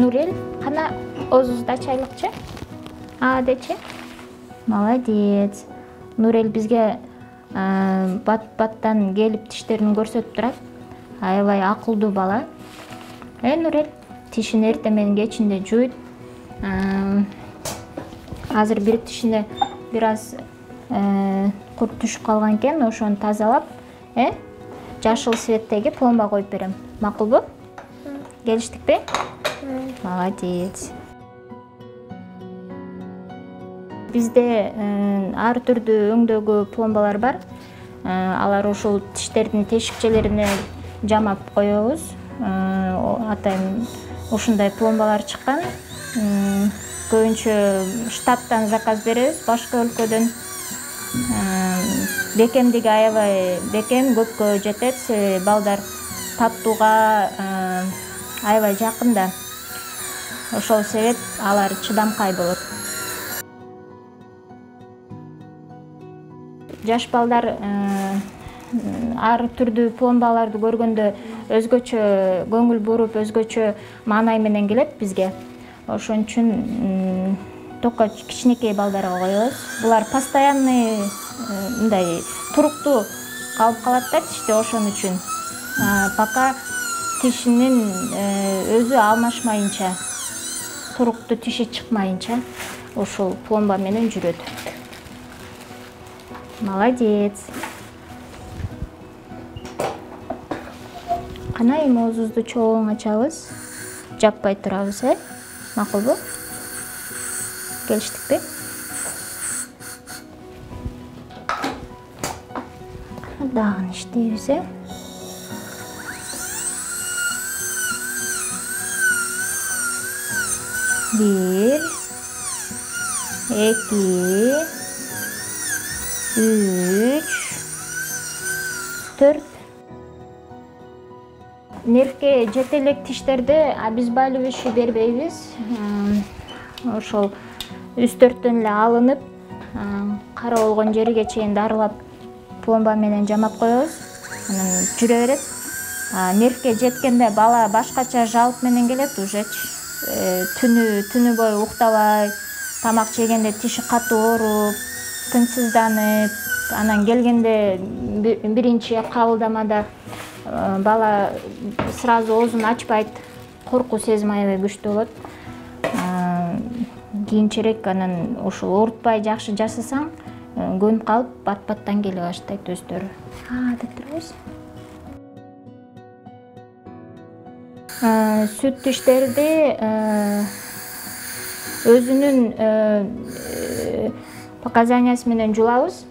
Нурел, кана оозубузду ачайлыкчы. Дечи. Молодец. Нурел бизге бат-баттан келип тиштерин көрсөтүп турат. Аябай акылдуу бала. Нурел, тишин эртең менен кечинде жуйт. Азыр бир тишине бир аз курт түшүп калган экен, ошону тазалап, жашыл цветтеги пломба коюп берем. Макулбу? Келиштикпи? Молодец. Бизде ар түрдүү өңдөгү пломбалар бар. Алар ушул тиштердин тешикчелерине жамап коебуз. Атайын ушундай пломбалар чыккан. Көбүнчө штаттан заказ беребиз, башка өлкөдөн. Бекемдиги аябай бекем, көпкө жетет. Балдар таттууга аябай жакын да. Ошол себеп алар чыдамкай болот. Жаш балдар ар түрдүү пломбаларды көргөндө өзгөчө көңүл буруп, өзгөчө маанай менен келет бизге. Ошон үчүн только кичинекей балдарга коебуз. Булар постоянный мындай туруктуу калып калат да тиште, ошон үчүн. Пока тишинин өзү алмашмайынча, туруктуу тиши чыкмайынча ушул пломба менен жүрөт. Молодец. Кана эми оозубузду чоң ачабыз. Жаппай турабыз, макулбу? Келиштикпи? Дагы иштейбиз, Бир, эки, үч, төрт. Нервге жете элек тиштерди обезболивающий бербейбиз. Ошол үстөрттөн эле алынып, кара болгон жериге чейин дарылап, пломба менен жамап коебуз. Анан жүрө берет. Нервге жеткенде бала башкача жалп менен келет уже. Түнү бою уктабай, тамак жегенде тиши катуу ооруп, тынчсызданып, анан келгенде биринчи кабылдамада бала сразу оозун ачпайт, коркуу сезими аябай күчтүү болот. Кийинчерээк анан ушул оорутпай жакшы жасасаң, көнүп калып, бат-баттан келе баштайт өздөрү. Деп турабыз. Сүт тиштерди өзүнүн показаниясы менен жулабыз.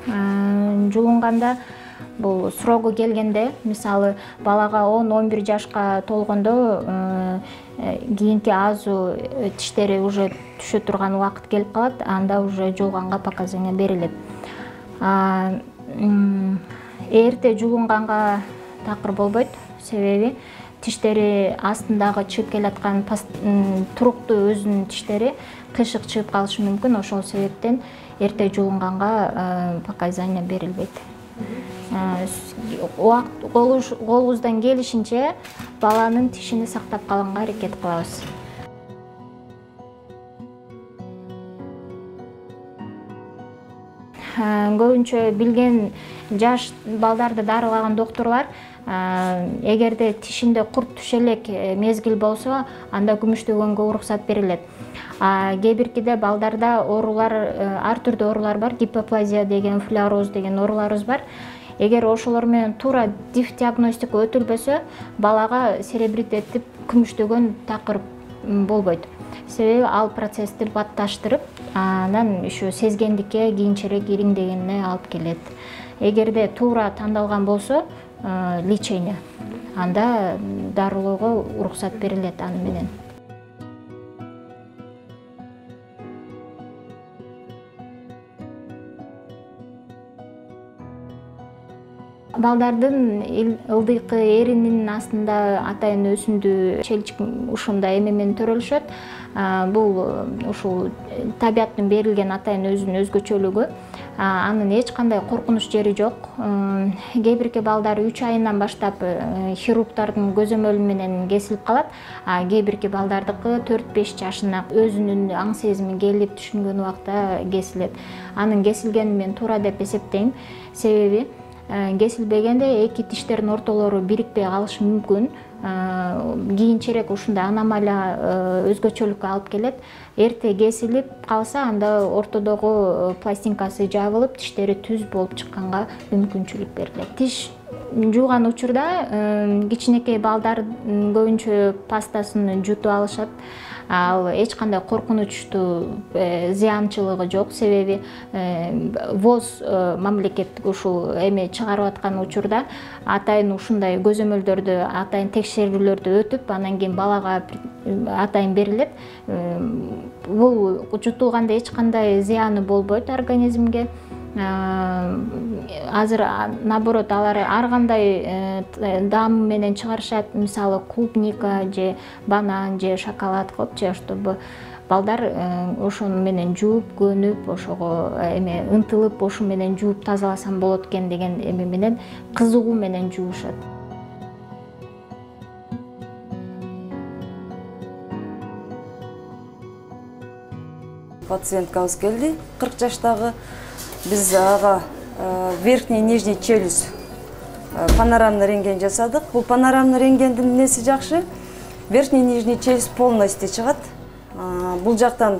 Жулунганда бул срогу келгенде, мисалы балага 10-11 жашка толгондо кийинки азуу тиштери уже түшө турган убакыт келип калат, анда уже жулганга показания берилет. Эрте жулунганга такыр болбойт, себеби тиштери астындагы чыгып келаткан туруктуу өзүнүн тиштери кыйшык чыгып калышы мүмкүн. Ошол себептен эрте жулунганга показания берилбейт. Колубуздан келишинче баланын тишини сактап калганга аракет кылабыз. Көбүнчө билген жаш балдарды дарылаган докторлор эгерде тишинде курт түшө элек мезгил болсо, анда күмүштөгөнгө уруксат берилет. Кээ биркиде балдарда оорулар, ар түрдүү оорулар бар, гипоплазия деген, флюороз деген ооруларыбыз бар. Эгер ошолор менен туура диагностика өтүлбөсө, балага серебритеттип күмүштөгөн такыр болбойт. Себеби ал процессти батташтырып, анан ушу сезгендикке, кийинчерээк ириңдегенине алып келет. Эгерде туура тандалган болсо, лечение, анда дарылоого уруксат берилет аны менен. Балдардын ылдыйкы эринин астында атайын өсүндүү челчик ушундай эме менен төрөлүшөт. Бул ушул табияттын берилген атайын өзүнүн өзгөчөлүгү. Анын эч кандай коркунуч жери жок. Кээ бирки балдар 3 айынан баштап хирургдардын көзөмөлү менен кесилип калат. Кээ бирки балдардыкы 4-5 жашына өзүнүн аң сезими келип түшүнгөн убакта кесилет. Анын кесилгенин мен туура деп эсептейм. Себеби кесилбегенде эки тиштердин ортолору бирикпей калышы мүмкүн. Кийинчерээк ушундай аномалия өзгөчөлүккө алып келет. Эрте кесилип калса, анда ортодогу пластинкасы жабылып, тиштери түз болуп чыкканга мүмкүнчүлүк берилет. Тиш жууган учурда кичинекей балдар көбүнчө пастасын жутуп алышат. Ал эч кандай коркунучтуу зыянчылыгы жок. Себеби ВОЗ мамлекет ушул эме чыгарып аткан учурда атайын ушундай көзөмөлдөрдү, атайын текшерүүлөрдү өтүп, анан кийин балага атайын берилет. Бул жутулганда эч кандай зыяны болбойт организмге. Азыр наоборот алар ар кандай даам менен чыгарышат, мисалы клубника же банан же шоколад кылып, чтобы балдар ошону менен жууп, көнүп, ошого эме ынтылып, ошу менен жууп тазаласам болот экен деген эме менен кызыгуу менен жуушат. Пациенткабыз келди, 40 жаштагы. Биз ага верхний и нижний челюсть панорамный рентген жасадык. Бул панорамный рентгендин эмнеси жакшы? Верхний и нижний челюсть полностью чыгат. Бул жактан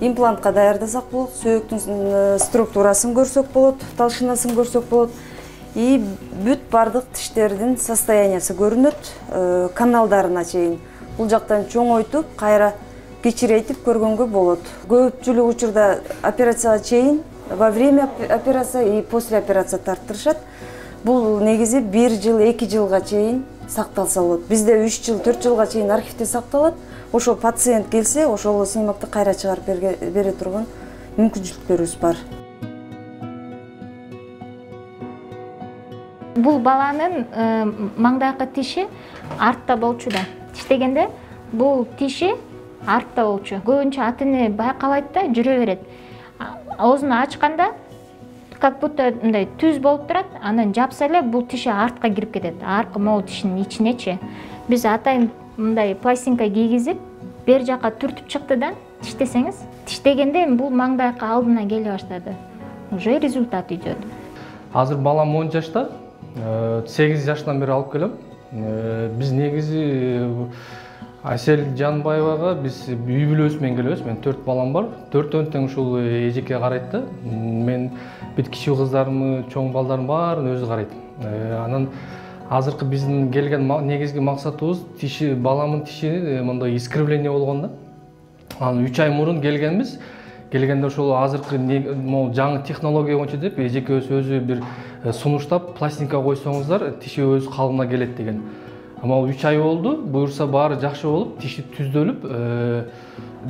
имплантка даярдасак болот, сөөктүн структурасын көрсөк болот, талшынасын көрсөк болот. И бүт бардык тиштердин состояниясы көрүнөт, каналдарына чейин. Бул жактан чоңойтуп, кайра кичирейтип көргөнгө болот. Көпчүлүк учурда операцияга чейин, во время операции и после операции тарттырышат. Бул негизи 1 жыл, 2 жылга чейин сакталса болот. Бизде 3 жыл, 4 жылга чейин архивде сакталат. Ошол пациент келсе, ошол сыймакты кайра чыгарып бере турган мүмкүнчүлүктөрүбүз бар. Бул баланын маңдайкы тиши артта болчу да. Тиштегенде бул тиши артта болчу. Көбүнчө ата-эне байкабайт да, жүрө берет. Оозун ачканда как будто мындай түз болуп турат, анан жапса эле бул тиши артка кирип кетет. Аркы могу тишинин ичинечи. Биз атайын мындай пластинка кийгизип, бер жака түртүп чыкты да, тиштесеңиз, тиштегенде бул маңдайкы алдына келе баштады. Уже результат идет. Азыр балам 10 жашта, 8 жаштан бери алып келем. Биз негизи Асел Жанбаевага биз үй бүлөбүз менен келебиз. Мен 4 балам бар. 4-төн тең ушул эжекке карайт да. Мен бүт кичүү кыздарымы, чоң балдарым баарын өзү карайт. Анан азыркы биздин келген негизги максатыбыз тиши, баламдын тиши мындай искривление болгон да. Анан 3 ай мурун келгенбиз. Келгенде ошол азыркы жаңы технология боюнча деп эжекебиз өзү бир сунуштап пластинка койсоңуздар тиши өз калыбына келет деген. Ама 3 ай болду, буюрса баары жакшы болуп, тиши түздөлүп,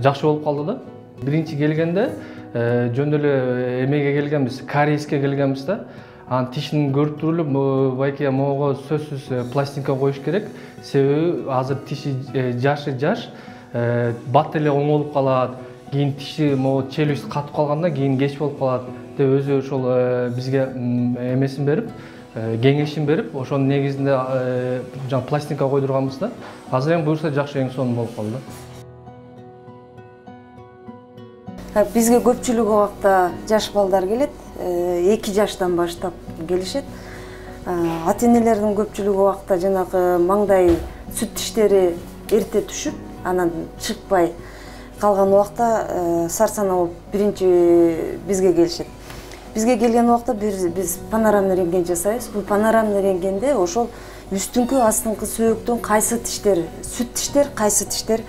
жакшы болуп калды да. Биринчи келгенде жөн эле эмеге келгенбиз, кариеске келгенбиз да. Анан тишин көрүп турулуп, байке могу сөзсүз пластинка коюш керек. Себеби азыр тиши жаш, бат эле оңолуп калат. Кийин тиши могу челюсть катып калганда кийин кеч болуп калат деп өзү ошол бизге эмесин берип, кеңешин берип, ошонун негизинде жаңы пластинка койдурганбыз да. Азыр эми буюрса жакшы эң сонун болуп калды. Бизге көпчүлүк убакта жаш балдар келет, 2 жаштан баштап келишет. Ата-энелердин көпчүлүк убакта жанагы маңдай сүт тиштери эрте түшүп, анан чыкпай калган убакта сарсана болуп биринчи бизге келишет. Бизге келген убакта биз панорамный рентген жасайбыз. Бул панорамный рентгенде ошол үстүңкү, астыңкы сөөктүн кайсы тиштер, сүт тиштер, кайсы тиштер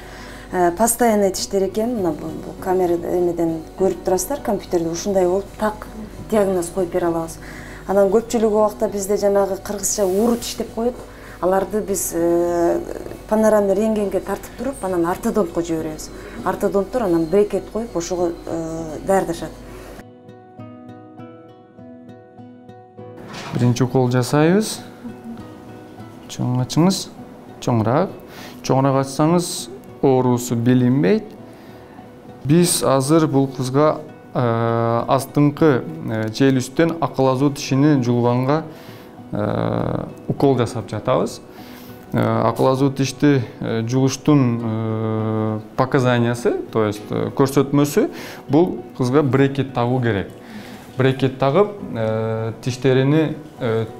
постоянный тиштер экен, мына бул камера эмеден көрүп турасыздар, компьютерде ушундай болуп так диагноз коюп бере алабыз. Анан көпчүлүк убакта бизде жанагы кыргызча ууру тиш деп коет. Аларды биз панорамный рентгенге тартып туруп, анан ортодонтко жиберебиз. Ортодонттор анан брекет коюп, ошого даярдашат. Биринчи укол жасайбыз. Чоң ачыңыз, чоңураак. Чоңураак ачсаңыз оорусу билинбейт. Биз азыр бул кызга астыңкы челюсттен акыл азуу тишини жулганга укол жасап жатабыз. Акыл азуу тишти жулуштун показаниясы, то есть көрсөтмөсү бул кызга брекет тагуу керек. Брекет тагып, тиштерини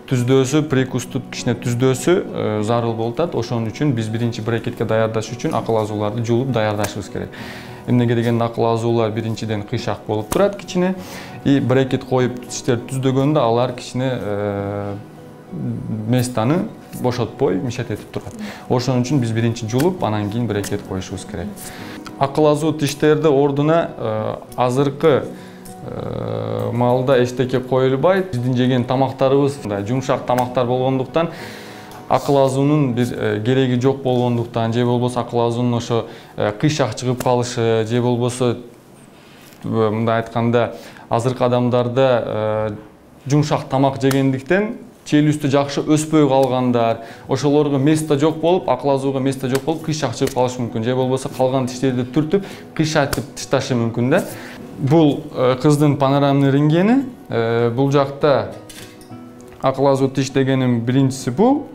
түздөөсү, прикусту кичине түздөөсү зарыл болуп атат. Ошон үчүн биз биринчи брекетке даярдаш үчүн акыл азууларды жулуп даярдашыбыз керек. Эмнеге дегенде акыл азуулар биринчиден кыйшак болуп турат кичине, и брекет коюп тиштерди түздөгөндө алар кичине местаны бошотпой мишет этип турат. Ошон үчүн биз биринчи жулуп, анан кийин брекет коюшубуз керек. Акыл азуу тиштерди ордуна азыркы маалда эчтеке коюлбайт. Биздин жеген тамактарыбыз жумшак тамактар болгондуктан, акыл азуунун бир кереги жок болгондуктан, же болбосо акыл азуунун ошо кыйшак чыгып калышы, же болбосо мындай айтканда азыркы адамдарда жумшак тамак жегендиктен челюстү жакшы өспөй калгандар, ошолорго место жок болуп, акыл азууга место жок болуп, кыйшак чыгып калышы мүмкүн. Же болбосо калган тиштерди түртүп, кыйшайтып тышташы мүмкүн да. Бул кыздын панорамный рентгени. Бул жакта акыл азуу тиш дегеним биринчиси бул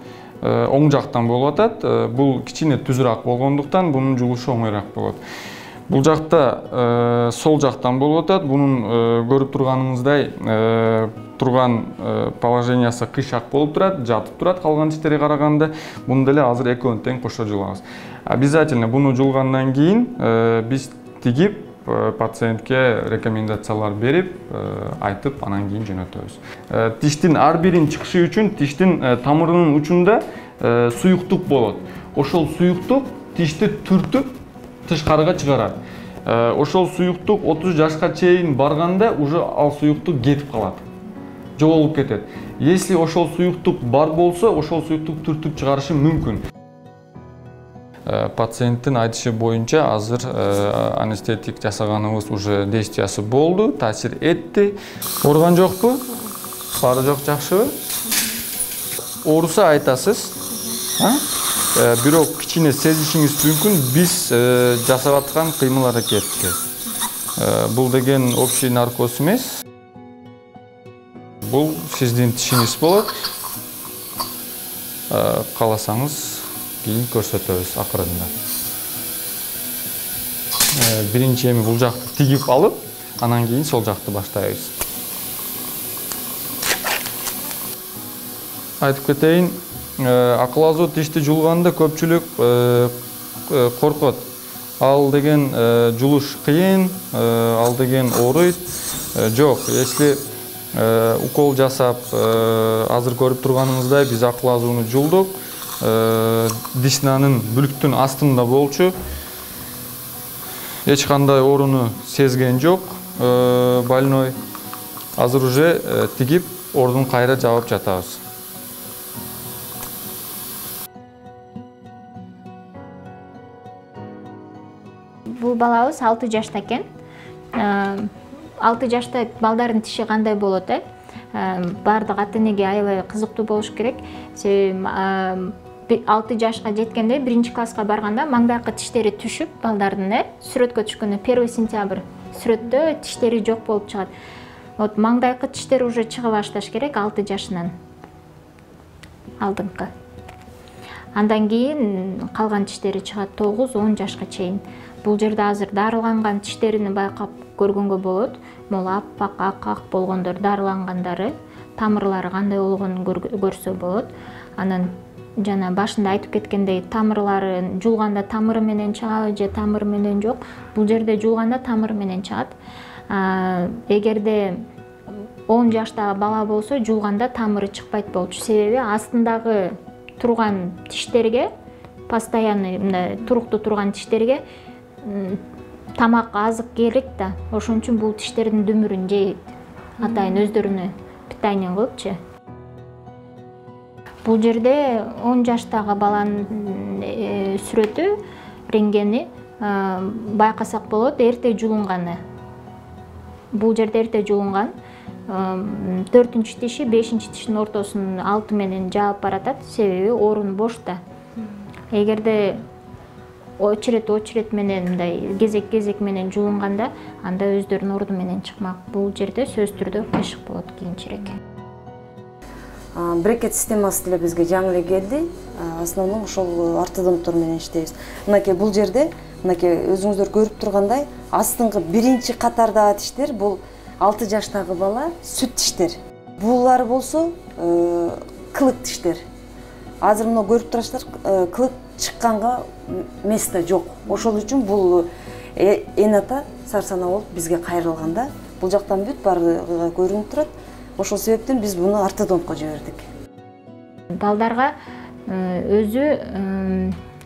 оң жактан болуп атат. Бул кичине түзүрөөк болгондуктан бунун жулушу оңойраак болот. Бул жакта сол жактан болуп атат. Бунун көрүп турганыңыздай турган положениясы кыйшак болуп турат, жатып турат калган тиштерге караганда. Муну деле азыр экөөнү тең кошо жулабыз. Обязательно буну жулгандан кийин биз тигип пациентке рекомендациялар берип, айтып, анан кийин жөнөтөбүз. Тиштин ар бирин чыгышы үчүн тиштин тамырынын учунда суюктук болот. Ошол суюктук тишти түртүп тышкарыга чыгарат. Ошол суюктук 30 жашка чейин барганда уже ал суюктук кетип калат. Жоголуп кетет. Если ошол суюктук бар болсо, ошол суюктук түртүп чыгарышы мүмкүн. Пациенттин айтышы боюнча азыр анестетик жасаганыбыз уже действиясы болду, таасир этти. Ооруган жокпу? Баары жок, жакшыбы? Ооруса айтасыз. Бирок кичине сезишиңиз мүмкүн биз жасап аткан кыймыл аракетти. Бул деген общий наркоз эмес. Бул сиздин тишиңиз болот. Кааласаңыз кийин көрсөтөбүз акырында. Биринчи эми бул жакты тигип алып, анан кийин сол жакты баштайбыз. Айтып кетейин, акыл азуу тишти жулганда көпчүлүк коркот. Ал деген жулуш кыйын, ал деген ооруйт. Жок, если укол жасап, азыр көрүп турганыңыздай биз акыл азууну жулдук. Дишнанын бүлүктүн астында болчу. Эч кандай ооруну сезген жок больной. Азыр уже тигип, ордун кайра жабып жатабыз. Бул балабыз 6 жашта экен. 6 жашта балдардын тиши кандай болот, баардык ата-энеге аябай кызыктуу болуш керек. 6 жашка жеткенде, 1-класска барганда маңдайкы тиштери түшүп, балдардын сүрөткө түшкөндө 1 сентябрь сүрөттө тиштери жок болуп чыгат. Вот маңдайкы тиштер уже чыга башташ керек 6 жашынан. Алдыңкы. Андан кийин калган тиштери чыгат 9-10 жашка чейин. Бул жерде азыр дарыланган тиштерини байкап көргөнгө болот. Могу аппак, ак болгондор дарылангандары, тамырлары кандай болгонун көрсө болот. Анан жана башында айтып кеткендей, тамырлары жулганда тамыры менен чыгабы же тамыры менен жок. Бул жерде жулганда тамыры менен чыгат. Эгерде 10 жаштагы бала болсо, жулганда тамыры чыкпайт болчу. Себеби астындагы турган тиштерге, постоянный мындай туруктуу турган тиштерге тамак азык керек да. Ошон үчүн бул тиштердин дүмүрүн жейт. Атайын өздөрүнө питание кылыпчы. Бул жерде 10 жаштагы баланын сүрөтү, рентгени байкасак болот, эрте жулунганы. Бул жерде эрте жулунган. 4-тиши, 5-тиштин ортосун алты менен жаап баратат, себеби орун бош да. Эгерде очередь менен мындай кезек менен жуулганда анда өздөрүнүн орду менен чыкмак. Бул жерде сөзсүз түрдө кыйшык болот кийинчерээк. Брекет системасы деле бизге жаңы эле келди. Основном ошол ортодонттор менен иштейбиз. Мынакей бул жерде, мынакей өзүңүздөр көрүп тургандай, астыңкы биринчи катардагы тиштер бул 6 жаштагы бала сүт тиштер. Булар болсо кылык тиштер. Азыр мына көрүп турасыздар, кылык чыкканга место жок. Ошол үчүн бул эн ата сарсана болуп бизге кайрылганда бул жактан бүт баардыгы көрүнүп турат. Ошол себептен биз буну ортодонтко жибердик. Балдарга өзү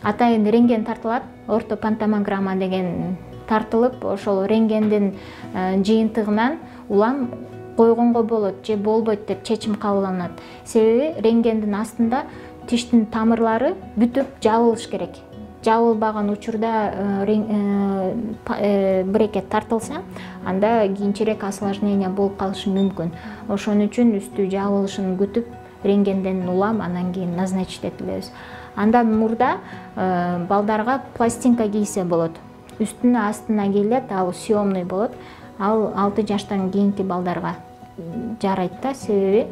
атайын рентген тартылат, ортопантомограмма деген тартылып, ошол рентгендин жыйынтыгынан улам койгонго болот же болбойт деп чечим кабылданат. Себеби рентгендин астында тиштин тамырлары бүтүп жабылыш керек. Жабылбаган учурда брекет тартылса, анда кийинчерээк осложнение болуп калышы мүмкүн. Ошон үчүн үстү жабылышын күтүп, рентгенден улам анан кийин назначить этилебиз. Андан мурда балдарга пластинка кийсе болот. Үстүнө астына кийилет, ал съемный болот. Ал 6 жаштан кийинки балдарга жарайт да, себеби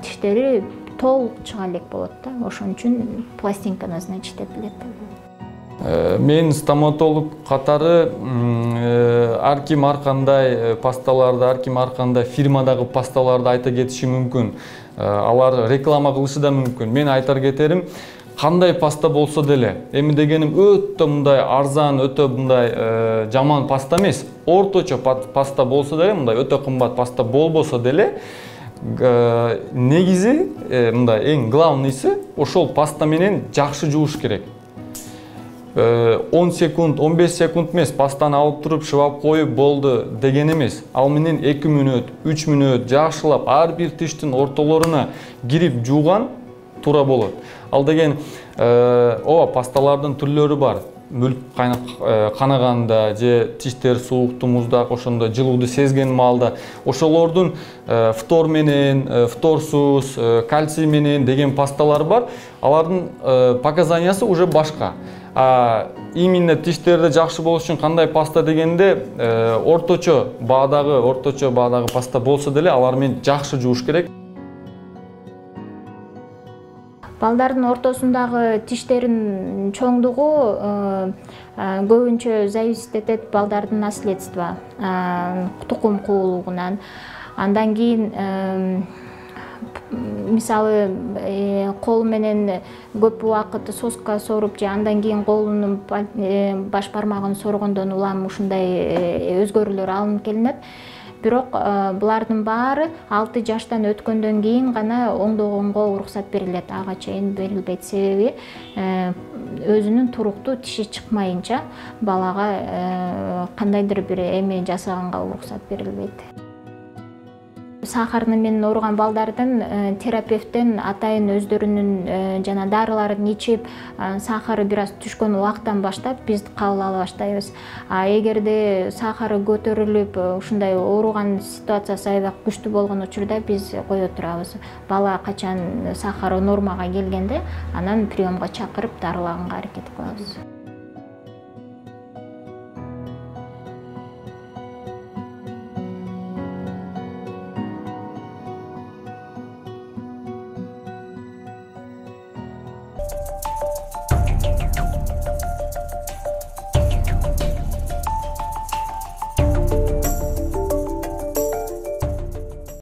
тиштери толук чыга элек болот да. Ошон үчүн пластинка назначить этилет. Мен стоматолог катары ар ким ар кандай пасталарды, ар ким ар кандай фирмадагы пасталарды айта кетиши мүмкүн. Алар реклама кылышы да мүмкүн. Мен айтар кетерим, кандай паста болсо деле, эми дегеним өтө мындай арзан, өтө мындай жаман паста эмес. Орточо паста болсо деле, мындай өтө кымбат паста болбосо деле, негизи мындай эң главныйсы ошол паста менен жакшы жууш керек. 10 секунд, 15 секунд эмес, пастаны алып туруп шыбап коюп болду деген эмес. Ал менен 2 мүнөт, 3 мүнөт жакшылап ар бир тиштин ортолоруна кирип жууган туура болот. Ал деген пасталардын түрлөрү бар. Мүлк канаганда же тиштер суукту, муздак, ошондо жылууду сезген маалда ошолордун фтор менен, фторсуз, кальций менен деген пасталар бар. Алардын показаниясы уже башка. Именно тиштерде жакшы болуш үчүн кандай паста дегенде орточо баадагы паста болсо деле алар менен жакшы жууш керек. Балдардын ортосундагы тиштерин чоңдугу көбүнчө зависит этет балдардын наследство, тукум куулугунан. Андан кийин мисалы кол менен көп убакыт соска соруп же андан кийин колунун баш бармагын соргондон улам ушундай өзгөрүүлөр алынып келинет. Бирок булардын баары 6 жаштан өткөндөн кийин гана оңдогонго уруксат берилет. Ага чейин берилбейт, себеби өзүнүн туруктуу тиши чыкмайынча балага кандайдыр бир эме жасаганга уруксат берилбейт. Сахарны менен ооруган балдардын терапевттен атайын өздөрүнүн жана дарыларын ичип, сахары бир аз түшкөн убактан баштап биз кабыл ала баштайбыз. Эгерде сахары көтөрүлүп, ушундай ооруган ситуациясы аябай күчтүү болгон учурда биз кое турабыз. Бала качан сахары нормага келгенде, анан приемга чакырып дарылаганга аракет кылабыз.